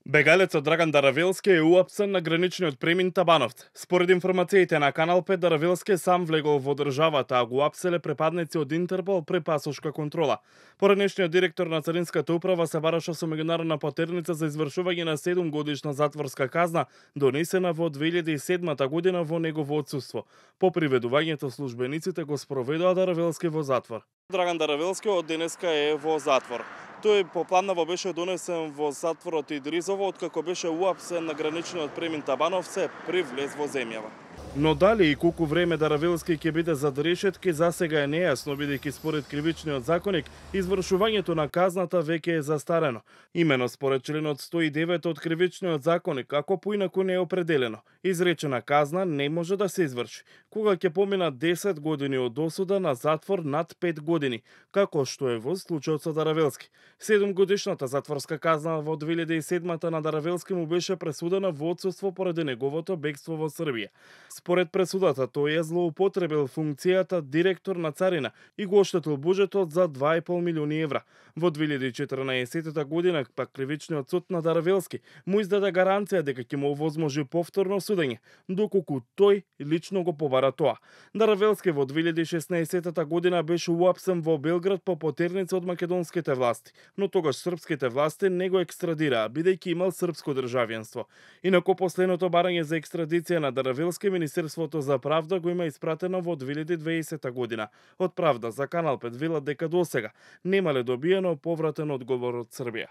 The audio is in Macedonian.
Бегалецот Драган Даравелски е уапсен на граничниот премин Табановци. Според информациите на Канал 5, Даравелски сам влегол во државата, а го уапселе препадници од Интерпол при пасошка контрола. Поранешниот директор на Царинската управа се бараше со меѓународна потерница за извршување на 7-годишна затворска казна, донесена во 2007 година во негово отсуство. По приведувањето службениците го спроведоа Даравелски во затвор. Драган Даравелски од денеска е во затвор. Тој попладнево беше донесен во затворот Идризово, откако беше уапсен на граничниот премин Табановци при влез во земјава. Но дали и колку време Даравелски ќе биде зад решетки, засега е нејасно, бидејќи според кривичниот законник, извршувањето на казната веќе е застарено. Имено според членот 109 од кривичниот законник, ако поинаку не е определено, изречена казна не може да се изврши, кога ќе поминат 10 години од осуда на затвор над 5 години, како што е во случајот со Даравелски. 7-годишната затворска казна во 2007 на Даравелски му беше пресудена во отсуство поради неговото бегство во Србија. Според пресудата, тој е злоупотребил функцијата директор на царина и го оштетил буџетот за 2,5 милиони евра. Во 2014 година, пак кривичниот суд на Даравелски му издаде гаранција дека ќе му овозможи повторно судење, доколку тој лично го побара тоа. Даравелски во 2016 година беше уапсен во Белград по потерница од македонските власти, но тогаш српските власти не го екстрадираа, бидејќи имал српско државјанство. Инаку последното барање за екстрадиција на Даравелски Министерството за правда го има испратено во 2020 година. Од Правда за Канал 5 велат дека досега немале добиено повратен одговор од Србија.